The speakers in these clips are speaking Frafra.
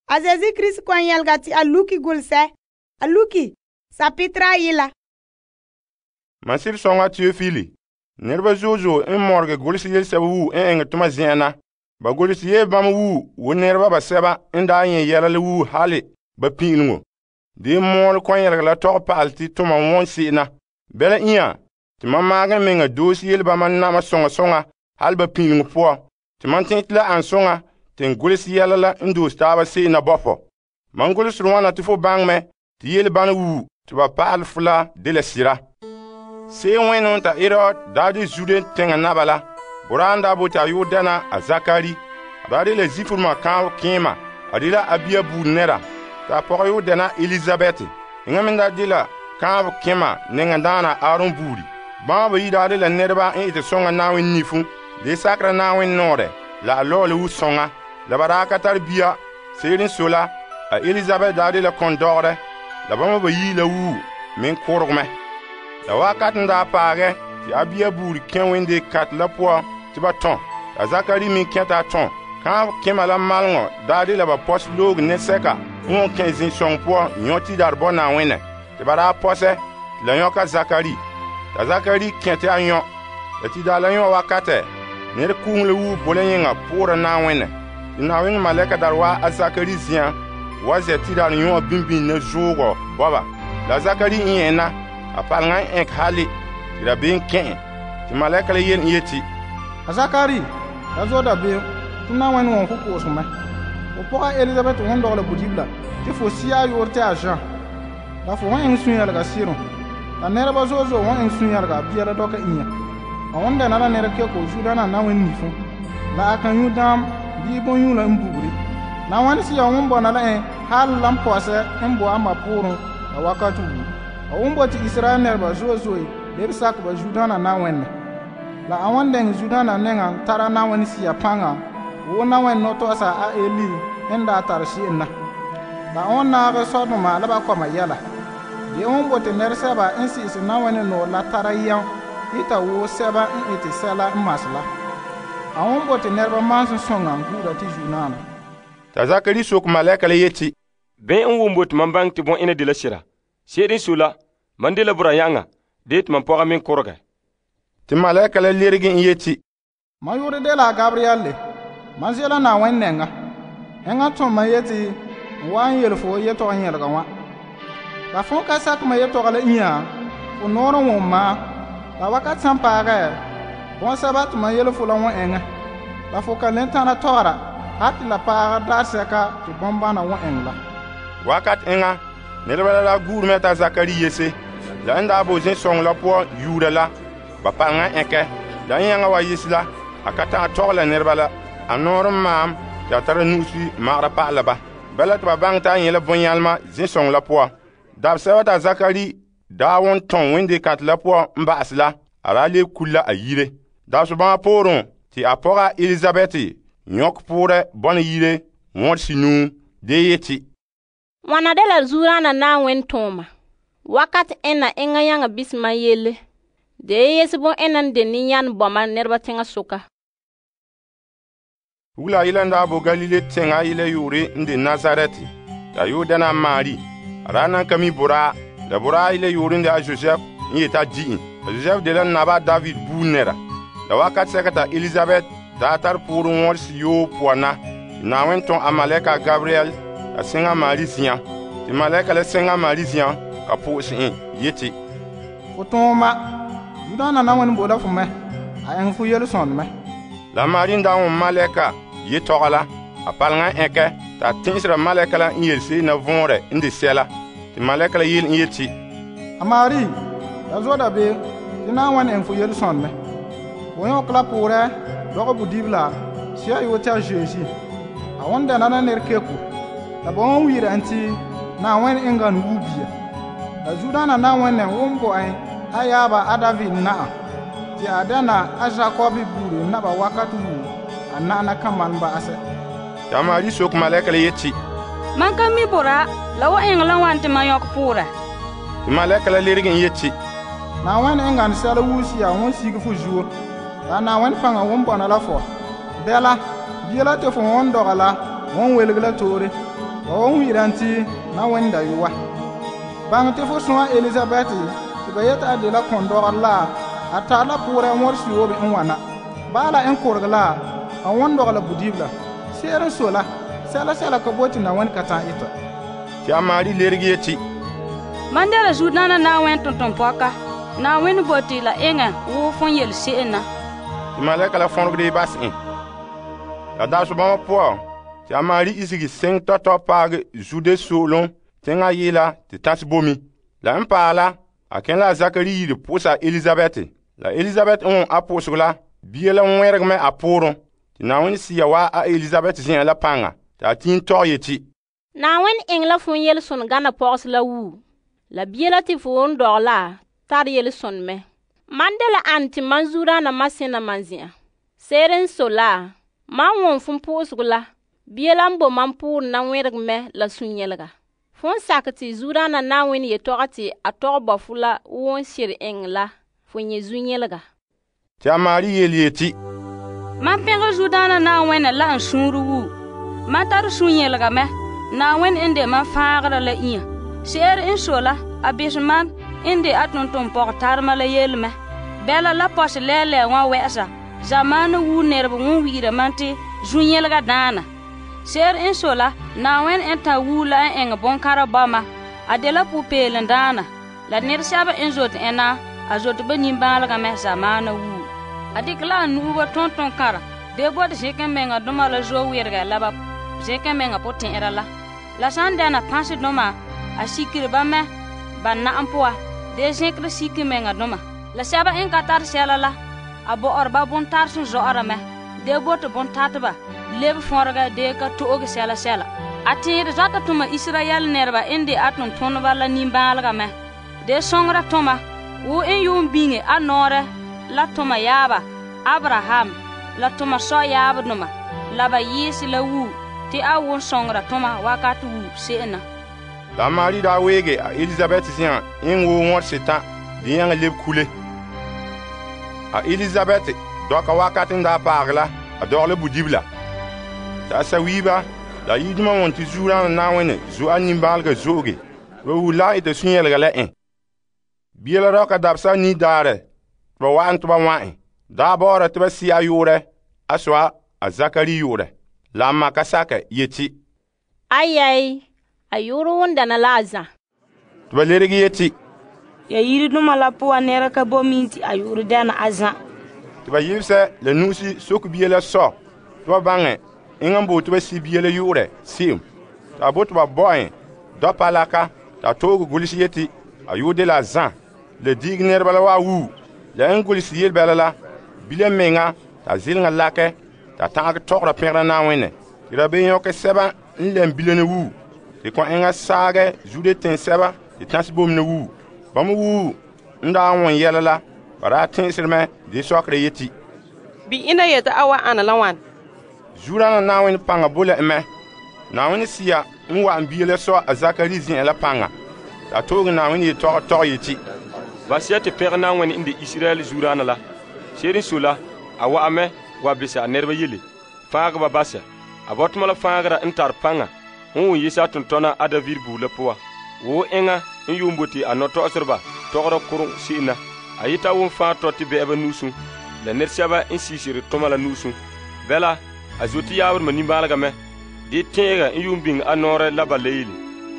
A Zeezi Krista kɔ'ɔn yɛlega te a luki golesɛ. A luki sapetere ayi la. Man sib soŋa Teofili. Nɛreba zo'e zo'e n mɔregɛ golesɛ yelesɛba wuo n eŋɛ toma zen'an na. Ba golesɛ yee bama wuo wo nɛreba basɛba n daa nyɛ yɛla la wuo hali ba pin'ileŋo. De mɔɔlɛ kɔ'ɔn yɛlega la tɔgɛ pa'alɛ te toma wɔn se'em na. Bɛla inya te man maagɛ meŋa doosi yele bama nama soŋa soŋa hali ba pin'ileŋo poan. Te man tɛn te la an soŋa te n golesɛ yɛla la n doosi taaba se'em na bɔfɔ. Man golesere wana te fo baŋɛ mɛ te yele bana wuo te ba pa'alɛ fo la de la sira. Se'em wẽnnaam ta Herod daa de Zude teŋa naba la. Boraa n daa bote a yoo dɛna a Zakari. A daa de la zifuruma kaanbɛ kẽema. A de la Abia buuri nɛra. Ta a pɔgɔ yoo dɛna Elizabeth. Eŋa me daa de la kaanbɛ kẽma nɛŋadaana Aaron buuri. Bãmba bayi daa de la nɛreba n ete soŋa Na'ayenɛ nifu. De sakera Na'ayenɛ nɔɔrɛ la a lɔɔle wu soŋa. La ba daa ka tare bia. Se'ere n sɔe la, a Elizabeth daa de la kɔndɔgɔrɛ. La bãmba bayi la wuo meŋ kʋreg mɛ. La wakat n daa paagɛ te Abia buuri kẽ wende kat la poan te ba tɔn. La Zakari meŋ kɛta a tɔn. Kaanbɛ kẽma la maleŋɔ daa de la ba pɔsɛ looge nɛsɛka n wɔn kẽ zin-sɔŋɔ poan yõ tidare bɔ Na'ayenɛ. Te ba daa pɔsɛ te la yõka Zakari. Ta Zakari kẽ te a yõ. La tidare la yõ wakatɛ, nɛrekugum la wuo bo la yẽŋa poorɛ Na'ayenɛ. Te Na'ayenɛ malɛka dare wa a Zakari zian wa zɛ tidare yõ bimbini na zoogɔ bɔba. La Zakari n yẽ na, a paleŋa n ɛnk hali te dabeem kẽ. Te malɛka la yele n yeti, a Zakari, la zo dabeem, te Na'ayenɛ wɔn fo po'osem mɛ. Fo pɔga Elizabeth wɔn dɔgɛ la bodibila, te fo sia a yoore te a Jean. La fo wɔn eŋɛ sũ-yɛlega sɩrem. La nɛreba zo'e zo'e wɔn eŋɛ sũ-yɛlega bia la dɔka inya. A wɔn dɛna la nɛra keko Zudaana Na'ayenɛ nifu. La a kan yu daam bii bõn-yũu la n buguri. Na'ayenɛ Sea wɔn bɔna la en hal la n pɔsɛ n bo a ma poorem la wakati wuo. A wɔn bote Israel nɛreba zo'e zo'e lebe sakɛ ba Zudaana Na'ayenɛ. La a wɔn dɛŋ Zudaana nɛŋa tara Na'ayenɛ Sea paŋa wo Na'ayenɛ nɔtɔgɔsa a Eli n daa tare se'em na. La a wɔn naagɛ Sodoma la ba kɔma yɛla. De wɔn bote nɛresɛba n si'ise Na'ayenɛ nɔɔ la tara yɛm ita wo sɛba n ete sɛla n mase la. A wɔn bote nɛreba mansem sõŋa guura te Zudaana. Ta Zakari sok malɛka la yeti, bẽ n wum bote man baŋɛ te bõ'ena de la sira. Se'ere n sɔe la, man de la bora-yãŋa de te man pɔga meŋ kʋrgɛ. Te malɛka la lerege n yeti, Man yʋʋre de la Gabriel le. Man ze la Na'ayenɛ nɛŋa. Eŋa tõm man yeti n wa n yele fo yetɔgɔ yẽlega wã. La fõn ka sakɛ ma yetɔgɔ la inya, fo noor n wʋm ma. La wakat sãn paagɛ, bõn-sɛba tɩ man yele fo la wõ eŋɛ. La fo ka len tãna tɔgera, ha tɩ la paagɛ daarsɛka tɩ bõn-bãna wõ eŋɛ la. wakat eŋa, nɛreba la guurumɛ t'a Zakari yese. La n daa bo zin-sõŋɔ la poan yuura la, ba paleŋa ɛnkɛ. La n yãŋa wa yese la, a ka ta'an tɔgɛ la nɛreba la. A noor n maam tɩ a tara nu'usi magera pa'ala ba. Bala tɩ ba baŋɛ t'a yẽ la bõn-yãlema zin-sõŋɔ la poan. Dabsɛba t'a Zakari daa wõn tõn wẽnde kãtɛ la poan n ba'ase la, a daa lebe kul la a yire. Dabsbãã poorẽ tɩ a pɔga Elizabeth yõk poorɛ bɔna yire wõd sinuu de yeti, Wãna de la Zudaana Na'ayenɛ tʋʋma. Wakat ẽnna eŋa yãŋa bisema yelle. De yese bõn-ẽnna n de nin-yãn bɔma nɛreba teŋa soka. Wula yela n daa bo Galile teŋa yela yoore n de Nazaret, t'a yoo dɛna a Maari. A daa nan ka mi boraa, la boraa yela yoore n de a Josɛf n yeta a di'in. A Josɛf de la naba David buur nɛra. La wakat sɛka t'a Elizabeth daa tar poorẽ wõd siyoo poan na. Na'ayenɛ tõn a malɛka Gabriel a sẽŋa Maari zian. Tɩ malɛka la sẽŋa Maari zian ka po'ose en yeti, Fo tõoma, Zudaana Na'ayenɛ bo la fo mɛ. A eŋɛ fo yel-sõnd mɛ. La Maari n daa wõ malɛka yetɔgɔ la, a paleŋa ɛnkɛ t'a tẽsera malɛka la n yelse na võorɛ n de sɛla. Tɩ malɛka la yel n yeti, A Maari, la zo dabeem, tɩ Na'ayenɛ eŋɛ fo yel-sõnd mɛ. Fo yõk la poorɛ, dɔgɛ bodibila, sia yoo tɛ a Zeezi. A wõn dɛna la nɛrekeko. La ba wõn wiira n tɩ Na'ayenɛ eŋga n wuu bia. La Zudaana Na'ayenɛ wõn bo ẽ a yaaba a David na'a, tɩ a dɛna a Jakob buuri naba wakat wuu a na'ana kan man ba'asɛ. t'a Maari sok malɛka la yeti, Man ka mi bora, la wa eŋɛ la wan tɩ man yõk poora. tɩ malɛka la lerege n yeti, Na'ayenɛ eŋga n sɛla wuusia wõn sige fo zuo. La Na'ayenɛ faŋa wõn bɔna la fo. Bɛla, bia la tɩ fo wõn dɔgɛ la wõn welge la toore. ba wan wi'ira ti na wẽn dayɔa. Baŋɛ tɩ fo sõa Elizabɛt tɩ ba yeta a dela kõndɔgɔr la a tare la poorɛ wõr siyoobe n wana. Bala n korege la a wõn dɔgɛ la budibila. Se'ere n so la, sɛla ka bote na wẽn ka ta'an ita. Tɩ a Maari lerege yeti, Man dela zudaana na wẽn tontonpɔka. Na wẽn bote la eŋa wo fon yel se'em na. tɩ malɛka la fõrgde bas en. La daasɔ-bãmba pʋɔ, tɩ a Maari isegi seŋ tɔtɔ paage Zude soolem tẽngã yeela tɩ tãs bomi. La n paɛ la, a kẽ la a Zakari yire pʋʋsa Elizabɛt. La Elizabɛt n wõ a pʋʋseg la, bia la wẽreg a poorẽ. Tɩ Na'ayenɛ sia wa a Elizabɛt zen'an la pãnga, tɩ a tĩin tɔg yeti, Na'ayenɛ eŋɛ la fon yelesõn gana pɔgɔs la wuu. La bia la tɩ fo won dɔg la tar yelesõn mɛ. Man de la an tɩ man zudaana ma sẽna man zĩ'an. Se'ere n so la, man wõn fon pʋʋseg la, bia la n bo man pʋʋrẽ na wẽreg mɛ la sũ-yẽlega. Fon sakɛ tɩ zudaana Na'ayenɛ yetɔgɔ tɩ a tɔg bɔ fu la won sɩr eŋɛ la fo nyɛ zu-yẽlega. tɩ a Maari yeel yeti, Man pẽgr zudaana Na'ayenɛ la n sũurẽ wuu. Man tar sũ-yẽlega mɛ. Na'ayenɛ n de man fãagrã la inya. Se'ere n so la, a bes man n de a tontonpɔgɔ tarema la yelemɛ. Bɛla la pɔsɛ lɛɛlɛɛ wã wɛ'ɛsa. Zamaana wuu nɛreba wõn wi'ira man tɩ zu-yẽlega daana. Se'ere n so la, Na'ayenɛ n tã wuu la n eŋɛ bõn-kãra bɔma. A de la pu-peelem daana. La nɛresɛba n zote ẽna, a zote ba nimbãalega mɛ zamaana wuu. A dɩkɛ la a nu'uba tonton-kãra dee bote zẽkẽ menga dʋma la zo-wɩrgɛ la ba zẽkẽ menga pʋtẽ'ɛra la. La sãn dɛna pãsdʋma, a sikiri ba mɛ ba na'am pʋa dee zẽkre siki menga dʋma. La sɛba n ka tar sɛla la, a bɔ'ɔr ba bõn-tarsem zɔ'ɔra mɛ dee bote bõn-tateba leb fõrega dee ka to'oge sɛla. A tẽed zɔta tʋma Israyɛl nɛreba n de a tontoneba la nimbãalega mɛ. Dee sõngera tʋma wo n yuun biŋe a nɔɔrɛ la tʋma yaaba Abraham la tʋma sɔ-yaabdoma la ba yɩɩse la wuu tɩ a wʋn sõngera tʋma wakat wuu se'em na. La a Maari daa weege a Elizabɛt zen'an n woo wõr setã dɩ yãng leb kule. A Elizabɛt dɔka wakat n daa paage la, a dɔgla budibila. Tɩ a sawiiba la yidumã wõn tɩ zuuraana Na'ayenɛ zo a nimbãalega zo'oge, ba wuu la n ɩta sũ-yẽlega la ẽ. Bia la rɔka dabsa a nidaarɛ tɩ ba wa'an tɩ ba wã daa baoora tɩ ba sɩ a yʋʋrɛ a soa a Zakari yʋʋrɛ. La a ma ka sakɛ yeti, Ayɛy, a yʋʋrɛ won dana la a zã. tɩ ba lerege yeti, Ya yiriduma la pʋga nɛra ka bo min tɩ a yʋʋr dɛna a zã. tɩ ba yɩbsɛ la nu'usi sok bia la sɔ tɩ ba bãngɛ eŋa n boog tɩ ba sɩ bia la yʋʋrɛ se'em. Tɩ a bo tɩ ba bɔ ẽ dɔ-palaka t'a toog gʋls yeti a yʋʋr de la a zã. La diig nɛreba la waa wuu. La n gʋls yel-bɛla la, bila menga t'a zɩlengã lakɛ t'a tãgg tɔgra pẽgra Na'ayenɛ. Tɩ ra be yõke sɛba n lɛm bilene wuu, tɩ kõ eŋa saagɛ Zude tẽn-sɛba tɩ tãs bomne wuu. Bãmb wuu n daa wõn yɛla la, ba daa tẽesd mɛ dɩ sɔkra yeti, Bɩ ina yeta a wa ana la wãn. Zuuraana Na'ayenɛ pãnga bo la mɛ. Na'ayenɛ sia n wa'an bia la sɔ a Zakari zen'an la pãnga. T'a toog Na'ayenɛ yetɔgɔ tɔg yeti, Basiya tɩ pẽg Na'ayenɛ n de Israyɛl zuuraana la. Se'ere n so la, a wa'a mɛ wa besa a nɛreba yelle, fãagba basɛ. A bɔtɔma la fãagrã n tar pãnga n wʋn yese a tʋntɔna a David buud la pʋga. Woo eŋa n yuun bote a nɔ-tɔgserba tɔgra kʋrʋng se'em na. A yeta wʋn fãa tɔ tɩ bɛ'ɛba nuusũ, la nɛresɛba n siisiri tʋma la nuusũ. Bɛla, a zo tɩ yaabremã nimbãalega mɛ, dɩ tẽega n yuun biŋ a nɔɔrɛ la ba la yeele.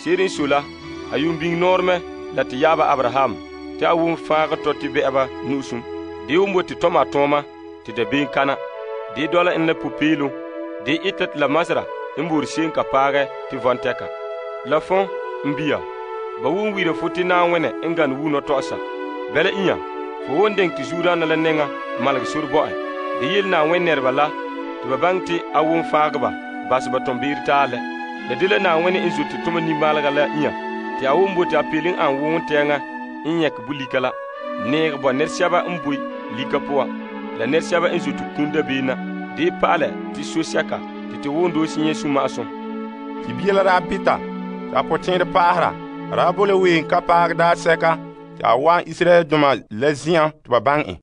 Se'ere n so la, a yuun biŋ nɔɔr mɛ la tɩ yaaba Abraham, tɩ a wʋn fãag tɔ tɩ bɛ'ɛba nuusũ. Dɩ wʋn bote tɔma a tõoma tɩ dabeem kana. Dɩ dɔla n la pu-peelem, dɩ ɩta tɩ la masra n boor se'em ka paagɛ tɩ vɔn tɛka. La fõ, n bia, ba wʋn wiira fo tɩ Na'ayenɛ n gane wuu nɔ-tɔgsa. Bɛla ĩyã, fo won deng tɩ zuuraana la nengã malg sor bɔ'ɛ. Dɩ yel Na'ayenɛ nɛreba la tɩ ba baŋ tɩ a wʋn faagba bas ba tõmbeer taalɛ. La de la Na'ayenɛ n zote tʋma nimbãalega la ĩyã tɩ a wʋn bote a peelẽ an wʋʋn tɛɛngã n yẽk bu-lika la. Neeg bɔ nɛresɛba n boe lika pʋga, la nɛresɛba n zote kũn dabeena. Dɩ pa'alɛ tɩ so-sɛka tɩ wʋn doose yẽ sũ-ma'asum. tɩ bia la daa pita tɩ a pʋtẽed paasra. A daa bo la ween ka paag daasɛka tɩ a wa Israyɛldoma la zĩ'ã tɩ ba bãng ẽ.